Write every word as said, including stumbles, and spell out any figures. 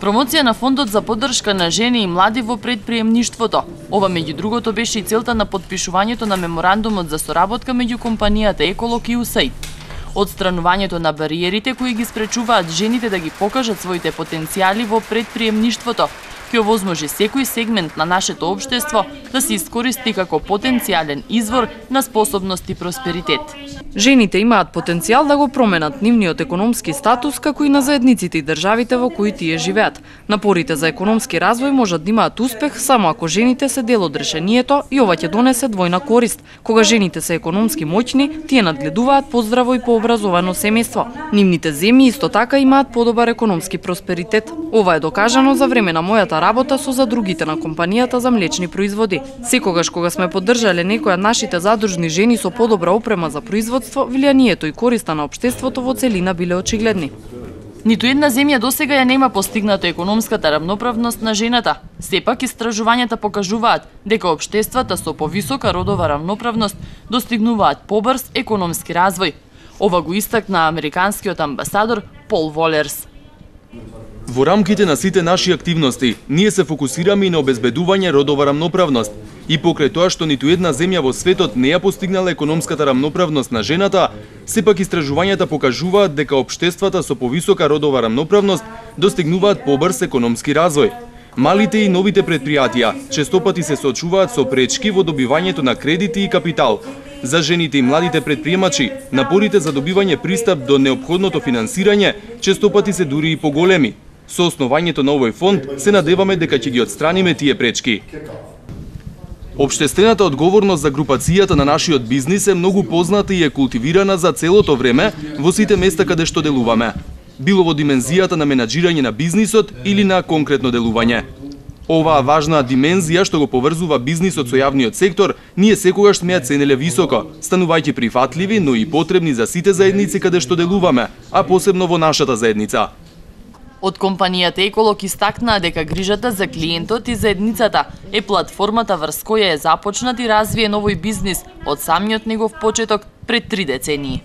Промоција на фондот за поддршка на жени и млади во предприемништвото. Ова меѓу другото беше и целта на подпишувањето на меморандумот за соработка меѓу компанијата Еколог и ю ес ей ай ди. Отстранувањето на бариерите кои ги спречуваат жените да ги покажат своите потенцијали во предприемништвото ќе овозможи секој сегмент на нашето општество да се искористи како потенцијален извор на способност и просперитет. Жените имаат потенцијал да го променат нивниот економски статус, како и на заедниците и државите во кои тие живеат. Напорите за економски развој можат да имаат успех само ако жените се дел од решението и ова ќе донесе двојна корист. Кога жените се економски моќни, тие надгледуваат поздраво и пообразовано семејство. Нивните земји исто така имаат подобар економски просперитет. Ова е докажано за време на мојата работа со задругите на компанијата за млечни производи. Секогаш кога сме поддржале некои од нашите задружни жени со подобра опрема за производство, влијанието и користа на општеството во целина биле очигледни. Ниту една земја досега ја нема постигната економската рамноправност на жената. Сепак истражувањата покажуваат дека општествата со повисока родова рамноправност достигнуваат побрз економски развој. Ова го истакна американскиот амбасадор Пол Волерс. Во рамките на сите наши активности, ние се фокусираме и на обезбедување родова рамноправност. И покрај тоа што ниту една земја во светот не ја постигнала економската рамноправност на жената, сепак истражувањата покажуваат дека општествата со повисока родова рамноправност достигнуваат побрз економски развој. Малите и новите предпријатија честопати се соочуваат со пречки во добивањето на кредити и капитал. За жените и младите предприемачи, напорите за добивање пристап до неопходното финансирање честопати се дури и поголеми. Со основањето на овој фонд се надеваме дека ќе ги отстраниме тие пречки. Општествената одговорност за групацијата на нашиот бизнис е многу позната и е култивирана за целото време во сите места каде што делуваме. Било во димензијата на менаџирање на бизнисот или на конкретно делување. Оваа важна димензија што го поврзува бизнисот со јавниот сектор, ние секогаш сме ја ценеле високо, станувајќи прифатливи, но и потребни за сите заедници каде што делуваме, а посебно во нашата заедница. Од компанијата Еколог истакнаа дека грижата за клиентот и заедницата е платформата врз која е започнат и развиен овој бизнис од самиот негов почеток пред три децении.